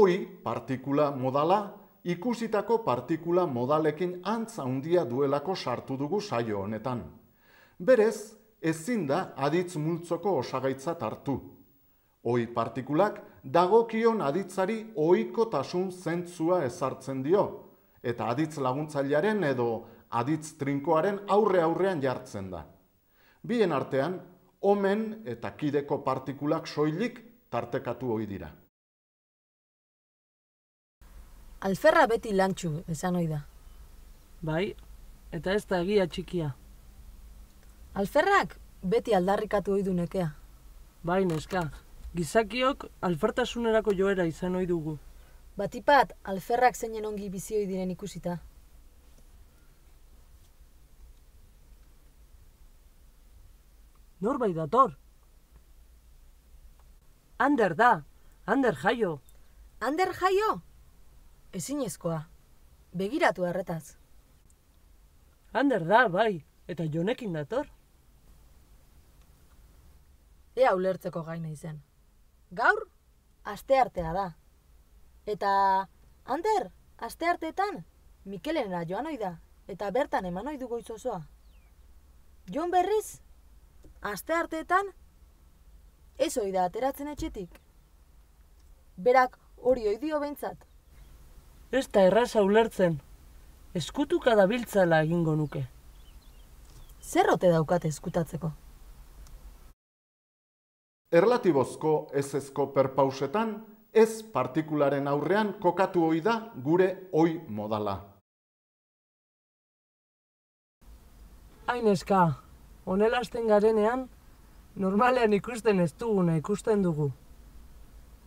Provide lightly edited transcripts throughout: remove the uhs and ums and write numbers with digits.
Oi partikula modala ikusitako partikula modalekin antz handia duelako sartu dugu saio honetan. Berez, ezin da aditz multzoko osagaitzat hartu. Oi partikulak dagokion aditzari ohikotasun zentzua ezartzen dio, eta aditz laguntzailearen edo aditz trinkoaren aurrean jartzen da. Bien artean, omen eta kideko partikulak soilik tartekatu ohi dira. Alferra beti lantxu, esan ohi da. Bai, eta ez da egia txikia. Alferrak beti aldarrikatu ohi du nekea. Bai, neska, gizakiok alfertasunerako joera izan ohi dugu. Batipat, alferrak zeinen ongi bizi ohi diren ikusita. Norbait dator. Ander da, Ander jaio. Ander jaio? Ezinezkoa. Begiratu harretaz. Ander da, bai, eta Jonekin dator. Ea ulertzeko gaina izen. Gaur, asteartea da. Eta, Ander, astearteetan, Mikelenera joan ohi da, eta bertan eman ohi du goiz osoa. Jon berriz, astearteetan, ez ohi da ateratzen etxetik. Berak hori ohi dio behintzat. Ez da erraza ulertzen. Eskutuka dabiltzala egingo nuke. Zer ote daukate eskutatzeko? Erlatibozko ezezko perpausetan, ez partikularen aurrean kokatu ohi da gure oi modala. Aineska, honela hasten garenean, normalean ikusten ez duguna ikusten dugu.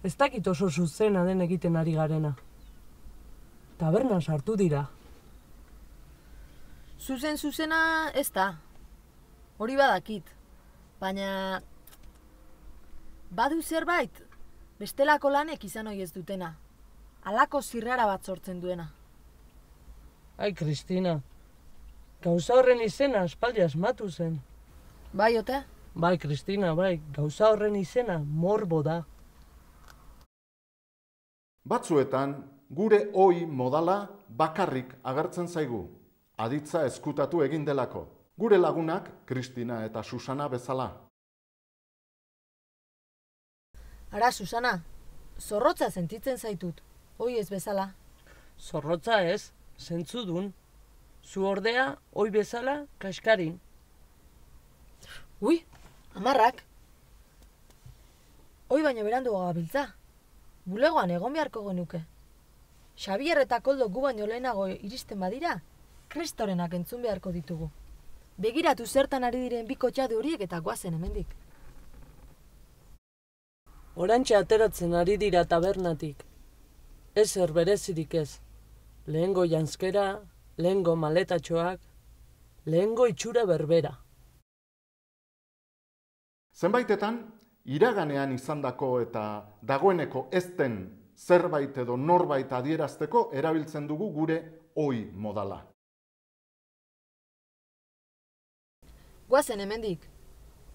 Ez dakit oso zuzena den egiten ari garena. Tabernan sartu dira. Zuzena ez da. Hori badakit. Baina badu zerbait, bestelako lanek izan ohi ez dutena. Halako zirrara bat sortzen duena. Ai, Kristina, gauza horren izena aspaldi asmatu zen. Bai, ote? Bai, Kristina, bai, gauza horren izena morbo da. Batzuetan, gure oi modala bakarrik agertzen zaigu, aditza eskutatu egin delako. Gure lagunak, Kristina eta Susana bezala. Ara, Susana, zorrotza sentitzen zaitut, oi ez bezala. Zorrotza ez, zentzudun. Zu ordea, oi bezala, kaskarin. Ui, amarrak. Oi baino berandu gabiltza. Bulegoan egon beharko genuke. Xabier eta Koldo gu baino lehenago iristen badira, kristorenak entzun beharko ditugu. Begiratu zertan ari diren bi kotxade horiek eta goazen hemendik. Orantxe ateratzen ari dira tabernatik. Ezer berezirik ez. Lehengo janzkera, lehengo maletatxoak, lehengo itxura berbera. Zenbaitetan, iraganean izandako eta dagoeneko ez den zerbait edo norbait adierazteko erabiltzen dugu gure oi modala. Goazen hemendik.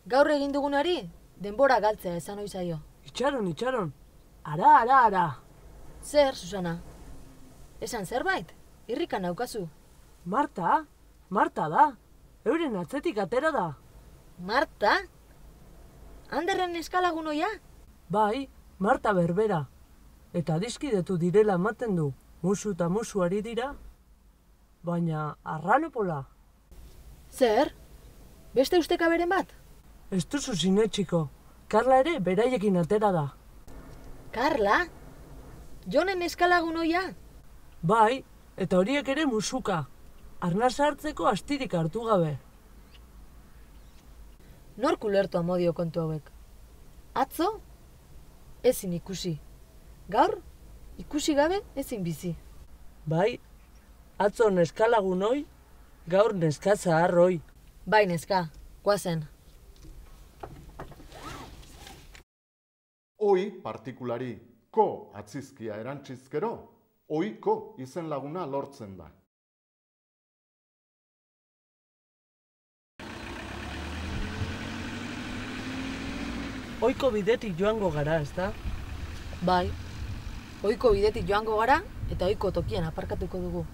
Gaur egin dugunari, denbora galtzea esan ohi zaio. Itxaron. Ara. Zer, Susana? Esan zerbait? Irrikan naukazu. Marta da. Euren atzetik atera da. Marta? Anderren eskalagun oia? Bai, Marta berbera. Eta adiskidetu direla ematen du. Musu eta musu ari dira. Baina, arranopola. Zer? Beste ustekaberen bat? Ez duzu sinetxiko. Karla ere beraiekin atera da. Karla? Jonen eskalagun oia? Bai, eta horiek ere musuka. Arnasa hartzeko astirik hartu gabe. Nork ulertu amodio kontu hauek? Atzo? Ezin ikusi. Gaur? Ikusi gabe ezin bizi. Bai, atzo neskalagun hoi, gaur neskatza harroi. Bai, neska, goazen. Oi partikulari ko atzizkia erantzizkero, oiko izen laguna lortzen da. Oiko bidetik joango gara, ezta? Bai. Ohiko bidetik joango gara eta ohiko tokian aparkatuko dugu.